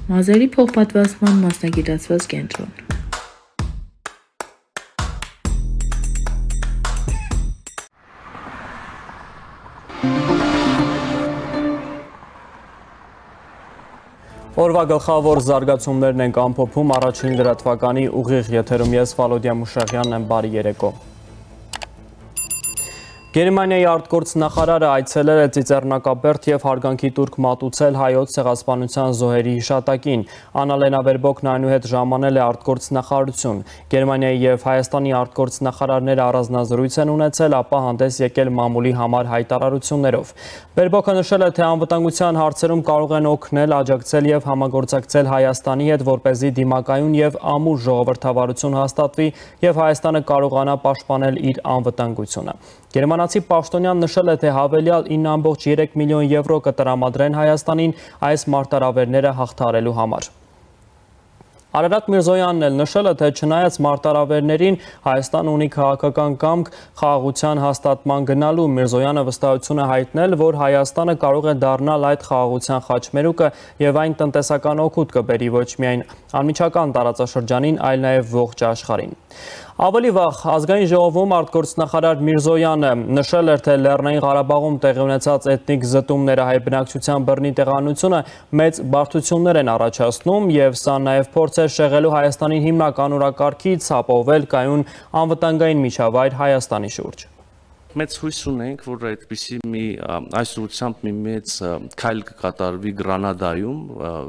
Մազերի փոխպատվաստման մասնագիտացված կենտրոն։ Օրվա գլխավոր զարգացումներն ենք ամփոփում առաջին լրատվականի ուղիղ եթերում ես Վալոդիա Մուշեղյանն եմ, բարի երեկո։ Գերմանիայի արտգործնախարարը այցելել է Ծիծեռնակաբերդ և հարգանքի տուրք մատուցել հայոց ցեղասպանության զոհերի հիշատակին։ Աննա Լենա Բերբոկն այնուհետ ժամանել է արտգործնախարարություն։ Գերմանիայի և Հայաստանի արտգործնախարարները առանձնազրույց են ունեցել, ապա հանդես եկել մամուլի համար հայտարարություններով։ Բերբոկը նշել է, թե անվտանգության հարցերում կարող են օգնել, աջակցել և համագործակցել Հայաստանի հետ, որպեսզի դիմակայուն և ամուր ժողովրդավարություն հաստատվի և Հայաստանը կարողանա պաշտպանել իր անվտանգությունը։ Գերմանացի պաշտոնյան նշել է, թե հավելյալ 9,3 միլիոն եվրո կտրամադրեն Հայաստանին այս մարտահրավերները հաղթահարելու համար։ Արարատ Միրզոյանն էլ նշել է, թե չնայած մարտահրավերներին Հայաստան ունի քաղաքական կամք խաղաղության հաստատման գնալու։ Միրզոյանը վստահություն է հայտնել, որ Հայաստանը կարող է դառնալ այդ խաղաղության խաչմերուկը և այն տնտեսական օգուտ կբերի ոչ միայն անմիջական տարածաշրջանին, այլ նաև ողջ աշխարհին։ Ավելի վաղ ազգային ժողովում արտգործնախարար Միրզոյանը նշել էր, թե Լեռնային Ղարաբաղում տեղի ունեցած էթնիկ զտումները հայ բնակչության բռնի տեղանությունը մեծ բարդություններ են առաջացնում և սա նաև փորձ է շեղելու Հայաստանի հիմնական օրակարգից ապահովել կայուն անվտանգային միջավայր Հայաստանի շուրջ։ Մեծ հույս ունենք, որ այդպիսի այս ուղղությամբ մի մեծ քայլ կկատարվի Գրանադայում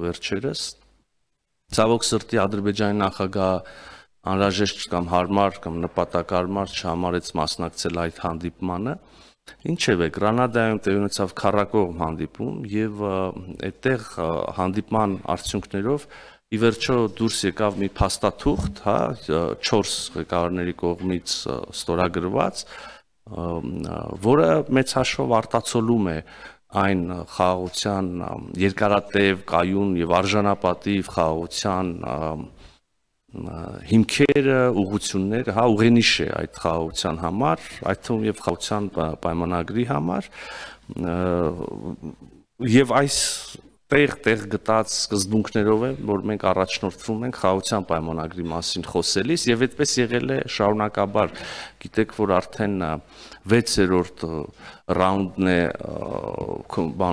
վերջերս։ Ցավոք սրտի Ադրբեջանի նախագահ անհրաժեշտ կամ հարմար կամ նպատակարար չհամարեց մասնակցել այդ հանդիպմանը։ Ինչևէ, Գրանադայում տեղի ունեցավ քառակողմ հանդիպում եւ այդտեղ հանդիպման արդյունքներով ի վերջո դուրս եկավ մի փաստաթուղթ, 4 ղեկավարների կողմից ստորագրված, որը մեծ հաշվով արտացոլում է այն խաղաղության երկարատև, կայուն եւ արժանապատիվ խաղաղության հիմքերը, ուղղությունները, ուղենիշ է այդ խաղաղության համար, այդ թվում եւ խաղաղության պայմանագրի համար, եւ այս տեղ գտած սկզբունքներով է, որ մենք առաջնորդվում ենք խաղաղության պայմանագրի մասին խոսելիս եւ այդպես եղել է շարունակաբար։ Գիտեք, որ արդեն 6-րդ ռաունդն է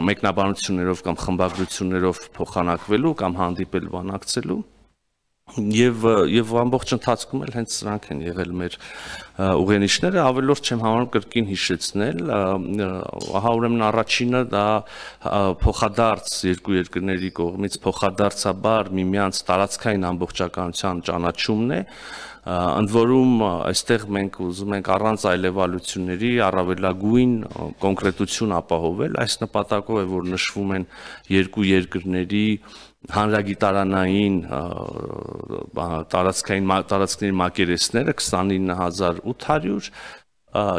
մեկնաբանություններով կամ խմբագրություններով փոխանակվելու կամ հանդիպել բանակցելու եւ ամբողջ ընթացքում էլ հենց սրանք են եղել մեր ուղենիշները, ավելորդ չեմ համարում կրկին հիշեցնել, ահա ուրեմն առաջինը դա փոխադարձ երկու երկրների կողմից փոխադարձաբար միմյանց տարածքային ամբողջականության ճանաչումն է, ընդ որում այստեղ մենք ուզում ենք առանց այլևալությունների առավելագույն կոնկրետություն ապահովել, այս նպատակով է, որ նշվում են երկու երկրների հանրագիտարանային տարածքների մակերեսները 29800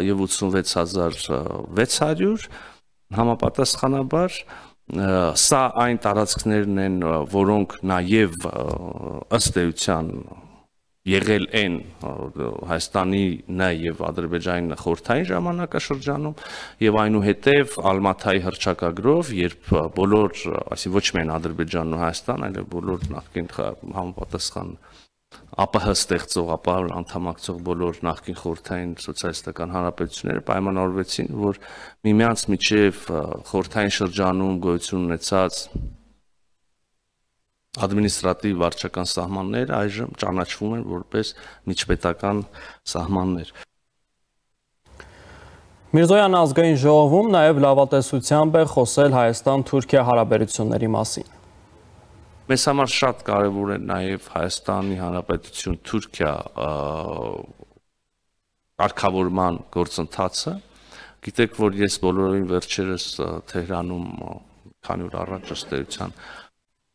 եւ 86600 համապատասխանաբար սա այն տարածքներն են, որոնք նաեւ ըստ էության եղել են Հայաստանի եւ Ադրբեջանի խորհրդային ժամանակաշրջանում եւ այնուհետեւ Ալմաթայի հռչակագրով, երբ բոլոր, այսինքն ոչ միայն Ադրբեջանն ու Հայաստան, այլև բոլոր նախկին համապատասխան ԱՊՀ ստեղծող, ԱՊՀ անդամակցող բոլոր նախկին խորհրդային սոցիալիստական հանրապետությունները պայմանավորվեցին, որ միմյանց միջև խորհրդային շրջանում գոյություն ունեցած ադմինիստրատիվ վարչական սահմանները այժմ ճանաչվում են որպես միջպետական սահմաններ։ Միրզոյանը ազգային ժողովում նաև լավատեսությամբ է խոսել Հայաստան-Թուրքիա հարաբերությունների մասին։ Մեզ համար շատ կարևոր է նաև Հայաստանի Հանրապետություն-Թուրքիա կարգավորման գործընթացը։ Գիտեք, որ ես բոլորովին վերջերս Թեհրանում քանի օր առաջ ըստ էության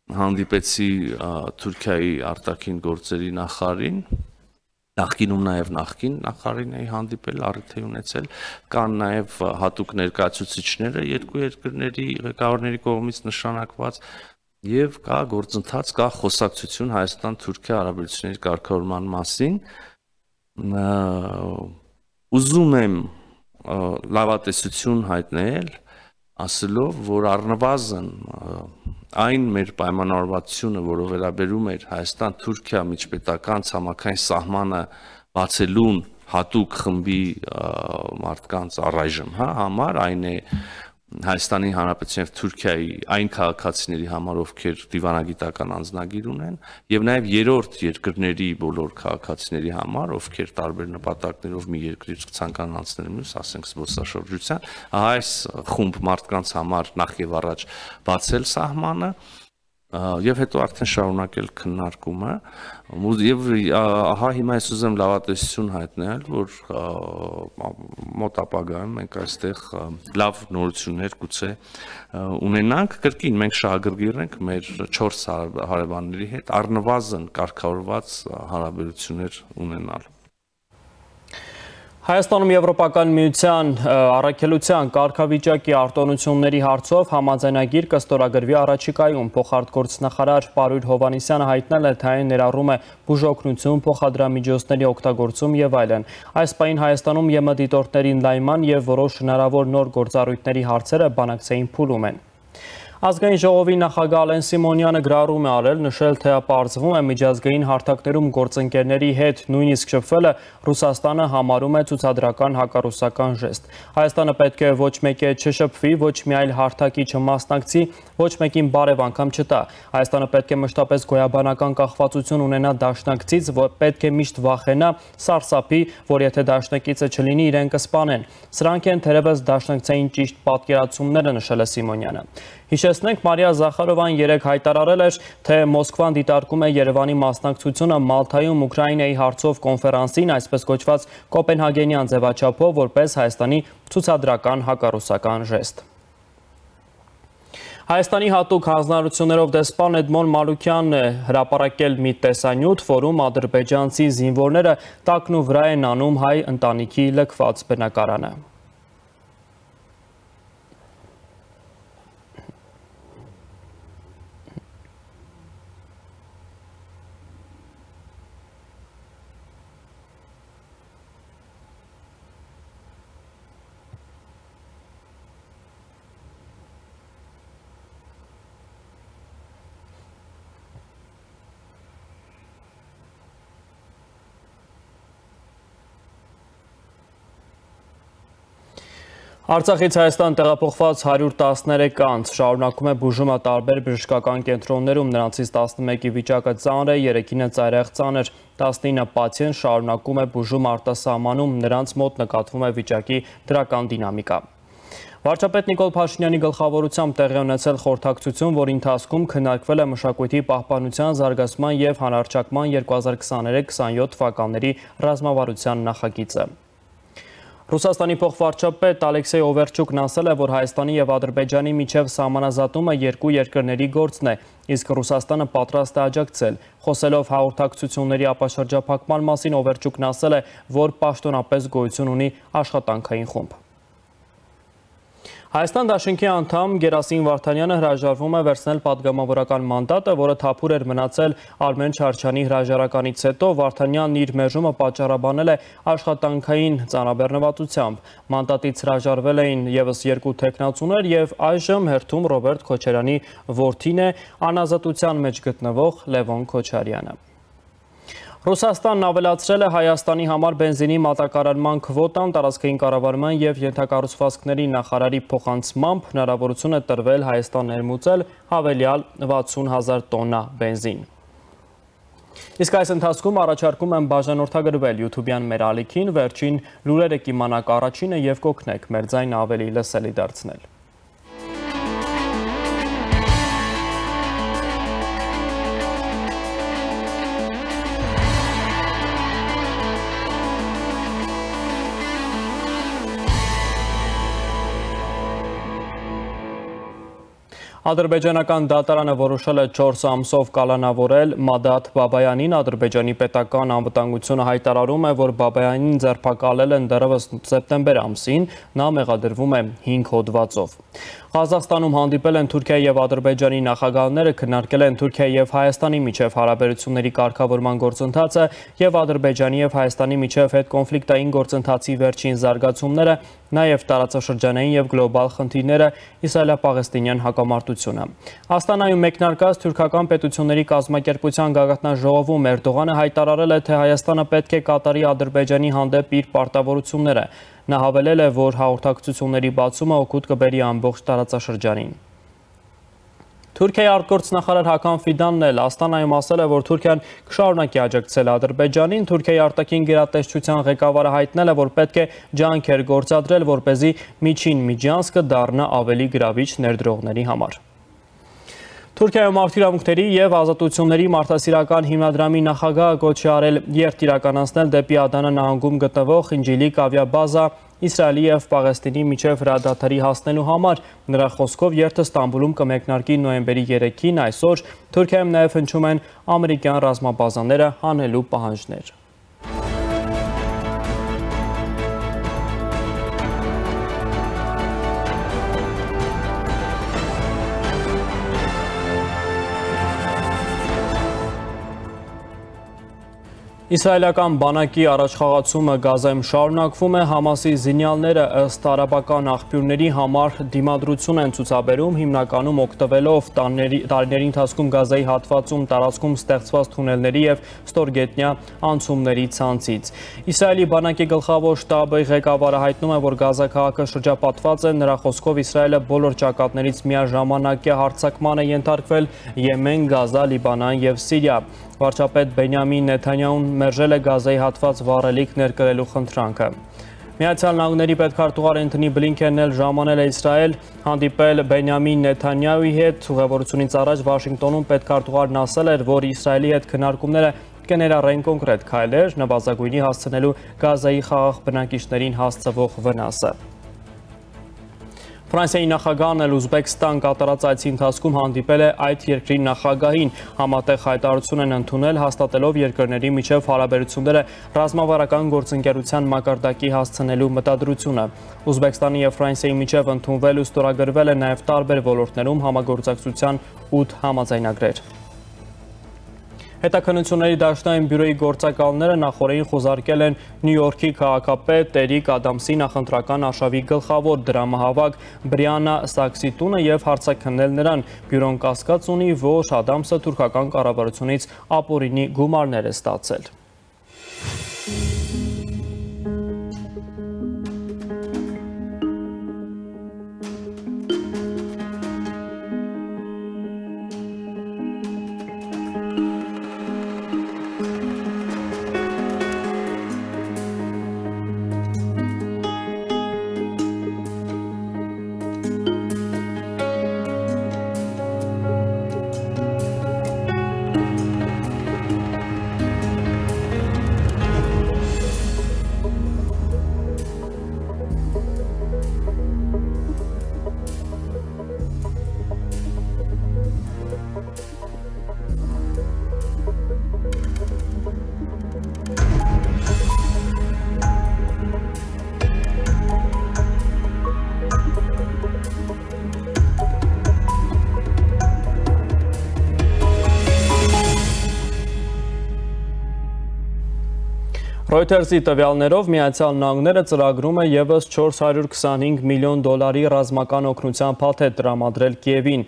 հանդիպեցի Թուրքիայի արտաքին գործերի նախարարին, նախկինում նաև նախկին նախարարին էի հանդիպել, առիթ էի ունեցել, կան նաև հատուկ ներկայացուցիչները երկու երկրների ղեկավարների կողմից նշանակված եւ կա գործընթաց, կա խոսակցություն Հայաստան-Թուրքիա հարաբերությունների կարգավորման մասին։ Ուզում եմ լավատեսություն հայտնել, ասելով, որ առնվազն այն մեր պայմանավորվածությունը, որը վերաբերում էր Հայաստան-Թուրքիա միջպետական ցամաքային սահմանը բացելուն հատուկ խմբի մարդկանց առայժմ համար, այն է Հայաստանի Հանրապետության եւ Թուրքիայի այն քաղաքացիների համար, ովքեր դիվանագիտական անձնագիր ունեն, եւ նաեւ երրորդ երկրների բոլոր քաղաքացիների համար, ովքեր տարբեր նպատակներով մի երկրից ցանկանան անցնել մյուս, ասենք զբոսաշրջության, այս խումբ մարդկանց համար նախ եւ առաջ բացել սահմանը եւ հետո արդեն շարունակել քննարկումը եւ ահա հիմա ես ուզեմ լավատեսություն հայտնել, որ մոտ ապագայում մենք այստեղ լավ նորություններ գուցե ունենանք, կրկին մենք շահագրգիռ ենք մեր 4 հարևանների հետ առնվազն կարգավորված հարաբերություններ ունենալ։ Հայաստանում Եվրոպական միության առաքելության կարգավիճակի արտոնությունների հարցով համաձայնագիր կստորագրվի առաջիկայում փոխարտգործնախարար Պարույր Հովհաննիսյանը հայտնել է, թե այն ներառում է բուժօգնություն, փոխադրամիջոցների օգտագործում եւ այլն։ Այս պահին Հայաստանում ԵՄ դիտորդների ընդլայնման եւ որոշ հնարավոր նոր գործառույթների հարցերը բանակցային փուլում են։ Ազգային ժողովի նախագահ Ալեն Սիմոնյանը գրառում է արել, նշել, թե պարզվում է միջազգային հարթակներում գործընկերների հետ նույնիսկ շփվելը Ռուսաստանը համարում է ցուցադրական հակառուսական ժեստ։ Հայաստանը պետք է ոչ մեկի հետ չշփվի, ոչ մի այլ հարթակի չմասնակցի, ոչ մեկին բարև անգամ չտա։ Հայաստանը պետք է մշտապես գոյաբանական կախվածություն ունենա դաշնակցից, պետք է միշտ վախենա, սարսափի, որ եթե դաշնակիցը չլինի, իրեն կսպանեն։ Սրանք են թերևս դաշնակցային ճիշտ պատկերացումները, նշել է Սիմոնյանը։ Հիշեցնենք, Մարիա Զախարովան երեկ հայտարարել էր, թե Մոսկվան դիտարկում է Երևանի մասնակցությունը Մալթայում Ուկրաինայի հարցով կոնֆերանսին, այսպես կոչված Կոպենհագենյան ձևաչափով, որպես Հայաստանի ցուցադրական հակառուսական ժեստ։ Հայաստանի հատուկ հանձնարարություններով դեսպան Էդմոն Մալուքյանն է հրապարակել մի տեսանյութ, որում ադրբեջանցի զինվորները տակն ու վրա են անում հայ ընտանիքի լքված բնակարանը։ Արցախից Հայաստան տեղափոխված 113 անձ շարունակում է բուժումը տարբեր բժշկական կենտրոններում, նրանցից 11-ի վիճակը ծանր է, 3-ին է ծայրահեղ ծանր, 19 պացիենտ շարունակում է բուժում արտասահմանում, նրանց մոտ նկատվում է վիճակի դրական դինամիկա։ Վարչապետ Նիկոլ Փաշինյանի գլխավորությամբ տեղի ունեցել խորհրդակցություն, որի ընթացքում քննարկվել է մշակույթի պահպանության, զարգացման և հանրարչակման 2023-27 թվականների ռազմավարության նախագիծը։ Ռուսաստանի փոխվարչապետ Ալեքսեյ Օվերչուկն ասել է, որ Հայաստանի և Ադրբեջանի միջև սահմանազատումը երկու երկրների գործն է, իսկ Ռուսաստանը պատրաստ է աջակցել։ Խոսելով հաղորդակցությունների ապաշրջափակման մասին, Օվերչուկն ասել է, որ պաշտոնապես գոյություն ունի աշխատանքային խումբ։ Հայաստան դաշինքի անդամ Գերասիմ Վարդանյանը հրաժարվում է վերցնել պատգամավորական մանդատը, որը թափուր էր մնացել Արմեն Չարչյանի հրաժարականից հետո, Վարդանյանն իր մերժումը պատճառաբանել է աշխատանքային ծանրաբեռնվածությամբ։ Մանդատից հրաժարվել էին ևս 2 թեկնածուներ և այժմ հերթում Ռոբերտ Քոչարյանի որդին է, անազատության մեջ գտնվող Լևոն Քոչարյանը։ Ռուսաստանն ավելացրել է Հայաստանի համար բենզինի մատակարարման քվոտան, տարածքային կառավարման և ենթակառուցվածքների նախարարի փոխանցմամբ հնարավորություն է տրվել Հայաստան ներմուծել հավելյալ 60,000 տոննա բենզին։ Իսկ այս ընթացքում առաջարկում եմ բաժանորդագրվել YouTube-յան մեր ալիքին, վերջին լուրերը կիմանաք առաջինը և կօգնեք մեր ձայնը ավելի լսելի դարձնել։ Ադրբեջանական դատարանը որոշել է 4 ամսով կալանավորել Մադաթ Բաբայանին, Ադրբեջանի պետական անվտանգությունը հայտարարում է, որ Բաբայանին ձերբակալել են դեռևս սեպտեմբեր ամսին, նա մեղադրվում է 5 հոդվածով։ Ղազախստանում հանդիպել են Թուրքիայի և Ադրբեջանի նախագահները, քննարկել են Թուրքիայի և Հայաստանի միջև հարաբերությունների կարգավորման գործընթացը և Ադրբեջանի և Հայաստանի միջև հետկոնֆլիկտային գործընթացի վերջին զարգացումները, նաև տարածաշրջանային եւ գլոբալ խնդիրները, իսրայելա-պաղեստինյան հակամարտությունը։ Աստանայում մեկնարկած թուրքական պետությունների կազմակերպության գագաթնաժողովում Էրդողանը հայտարարել է, թե Հայաստանը պետք է կատարի Ադրբեջանի հանդեպ իր պարտավորությունները։ Նա հավելել է, որ հաղորդակցությունների բացումը օգուտ կբերի ամբողջ տարածաշրջանին։ Թուրքիայի արտգործնախարար Հական Ֆիդանն էլ Աստանայում ասել է, որ Թուրքիան կշարունակի աջակցել Ադրբեջանին։ Թուրքիայի արտաքին գերատեսչության ղեկավարը հայտնել է, որ պետք է ջանքեր գործադրել, որպեսզի միջին Միջանցքը դառնա ավելի գրավիչ ներդրողների համար։ Թուրքիայում մարդիրավունքների եւ ազատությունների մարդասիրական հիմնադրամի նախագահը կոչ է արել երթ իրականացնել դեպի Ադանա նահանգում գտնվող Խինջիլիկ ավիաբազա Իսրայելի եւ Պաղեստինի միջև հրադադարի հասնելու համար։ Նրա խոսքով երթը Ստամբուլում կմեկնարկի նոյեմբերի 3-ին, այսօր Թուրքիայում նաեւ հնչում են ամերիկյան ռազմաբազաները հանելու պահանջներ։ Իսրայելական բանակի առաջխաղացումը Գազայում շարունակվում է, Համասի զինյալները ըստ արաբական աղբյուրների համար դիմադրություն են ցուցաբերում, հիմնականում օգտվելով տարիների ընթացքում Գազայի հատվածում տարածքում ստեղծված թունելների եւ ստորգետնյա անցումների ցանցից։ Իսրայելի բանակի գլխավոր շտաբի ղեկավարը հայտնում է, որ Գազա քաղաքը շրջապատված է, նրա խոսքով Իսրայելը բոլոր ճակատներից միաժամանակ հարձակման է ենթարկվել Եմեն, Գազա, Լիբանան եւ Սիրիա։ Վարչապետ Բենյամին Նեթանյահուն մերժել է Գազայի հատված վառելիք ներկրելու խնդրանքը։ Միացյալ Նահանգների պետքարտուղար Էնթոնի Բլինքենն էլ ժամանել է Իսրայել, հանդիպել Բենյամին Նեթանյահուի հետ։ Ուղևորությունից առաջ Վաշինգտոնում պետքարտուղարն ասել էր, որ Իսրայելի հետ քննարկումները կներառեն կոնկրետ քայլեր, նվազագույնի հասցնելու Գազայի խաղաղ բնակիչներին հասցվող վնասը։ Ֆրանսիայի նախագահն էլ Ուզբեկստան կատարած այցի ընթացքում հանդիպել է այդ երկրի նախագահին, համատեղ հայտարարություն են ընդունել, հաստատելով երկրների միջև հարաբերությունները ռազմավարական գործընկերության մակարդակի հասցնելու մտադրությունը։ Ուզբեկստանի եւ Ֆրանսիայի միջև ընդունվել ու ստորագրվել է նաեւ տարբեր ոլորտներում համագործակցության 8 համաձայնագրեր։ Հետաքննությունների դաշնային բյուրոյի գործակալները նախորդին խոզարկել են Նյու Յորքի քաղաքապետ Էրիկ Ադամսի նախընտրական արշավի գլխավոր դրամահավաք Բրիանա Սաքսի տունը եւ հարցաքննել նրան։ Բյուրոն կասկած ունի, որ Ադամսը թուրքական կառավարությունից ապօրինի գումարներ է ստացել։ Reuters-ի տվյալներով Միացյալ Նահանգները ծրագրում է ևս $425 միլիոն ռազմական օգնության փաթեթ տրամադրել Կիևին։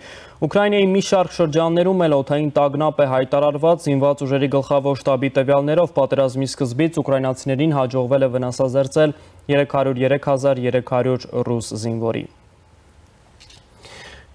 Ուկրաինայի մի շարք շրջաններում էլ օդային տագնապ է հայտարարված, զինված ուժերի գլխավոր շտաբի տվյալներով պատերազմի սկզբից ուկրաինացիներին հաջողվել է վնասազերծել 303,300 ռուս զինվորի։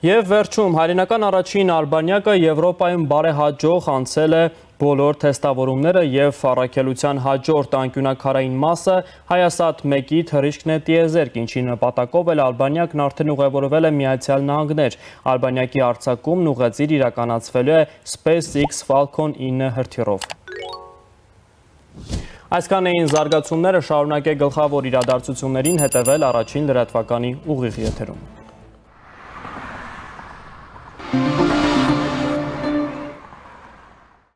Եվ վերջում հայրենական առաջին արբանյակը Եվրոպայում բարեհաջող անցել է բոլոր թեստավորումները եւ առաքելության հաջորդ անկյունակարային մասը Հայասատ 1-ի թռիչքն է տիեզերք, ինչի նպատակով էլ Ալբանիակն արդեն ուղևորվել է Միացյալ Նահանգներ։ Ալբանիակի արձակումն ուղեծիր իրականացվելու է SpaceX Falcon 9 հրթիռով։ Այսքան էին զարգացումները, շարունակեք գլխավոր իրադարձություններին հետևել առաջին լրատվականի ուղիղ եթերում։